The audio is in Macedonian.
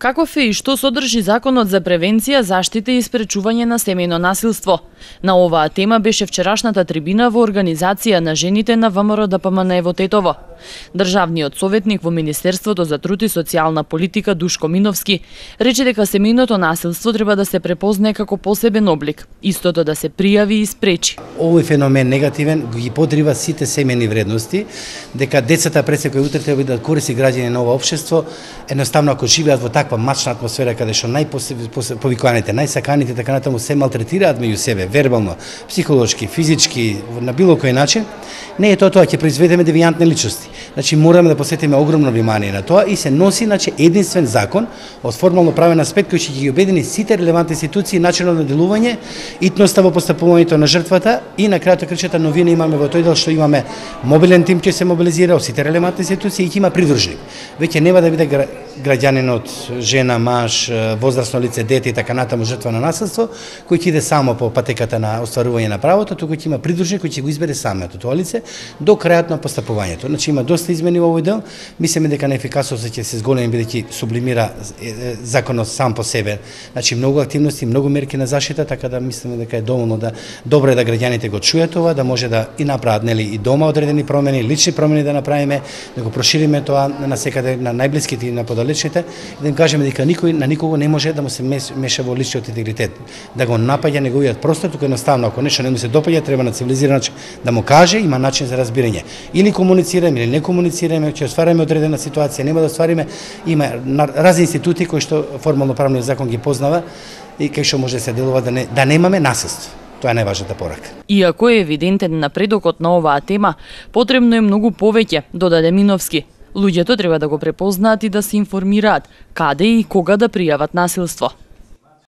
Каков е и што содржи Законот за превенција, заштита и спречување на семејно насилство? На оваа тема беше вчерашната трибина во организација на жените на ВМРО ДПМН во Тетово. Државниот советник во Министерството за труд и социјална политика Душко Миновски рече дека семејното насилство треба да се препознае како посебен облик, истото да се пријави и спречи. Овој феномен негативен ги подрива сите семејни вредности, дека децата пред секој утре треба да користи граѓани на ова општество, едноставно ако живеат во таква мачна атмосфера каде што најповикуваните, најсаканите така натаму се малтретираат меѓу себе, вербално, психолошки, физички, на било кој начин, не е тоа ќе произведеме девијантни личности. Значи мораме да посветиме огромно внимание на тоа и се носи единствен закон од формално правен аспект кој ќе ги обедини сите релевантни институции, начинот на делување, итноста во постапувањето на жртвата и на крајот крчета новина имаме во тој дел што имаме мобилен тим ќе се мобилизира од сите релевантни институции и ќе има придружник. Веќе нема да биде граѓанинот, жена, маж, возрасно лице, дете и така натаму жртва на насилство, кој ќе иде само по патеката на остварување на правото, туку ќе има придружник кој ќе го избере самото тоа лице до крајот на постапувањето. Значи има доста измени во овој дел. Мислиме дека на ефикасноста ќе се зголеми бидејќи сублимира законот сам по себе. Значи многу активности, многу мерки на заштита, така да мислиме дека е доволно добро е да граѓаните го чујат ова, да може да и направат и дома одредени промени, лични промени да направиме, да го прошириме тоа на секаде на најблиските и на подалечните, да им кажеме дека на никого не може да му се меша во личниот интегритет, да го напаѓа неговиот простор, туку едноставно ако нешто не му се допаѓа, треба на цивилизиран начин да му каже, има начин за разбирање. Или комуницираме или не комуницираме, ќе оствариме одредена ситуација, нема да оствариме, има разни институти кои што формално правниот закон ги познава и кај што може да се делува да немаме насилство. Тоа е најважната порака. Иако е евидентен напредокот на оваа тема, потребно е многу повеќе, додаде Миновски. Луѓето треба да го препознаат и да се информираат каде и кога да пријават насилство.